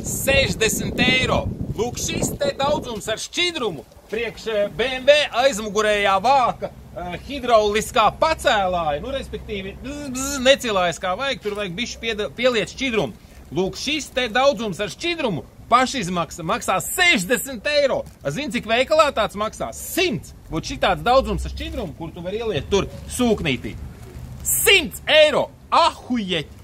60 eiro. Lūk, šis te daudzums ar šķidrumu priekš BMW aizmugurējā vāka hidrauliskā pacēlāja, nu, respektīvi, necilājas kā vajag, tur vajag bišķi pieliet šķidrumu. Lūk, šis te daudzums ar šķidrumu pašizmaksa maksā 60 eiro. Zini, cik veikalā tāds maksā? 100. Būt šitāds daudzums ar šķidrumu, kur tu var ieliet tur sūknītī. 100 eiro! Ahujeķi!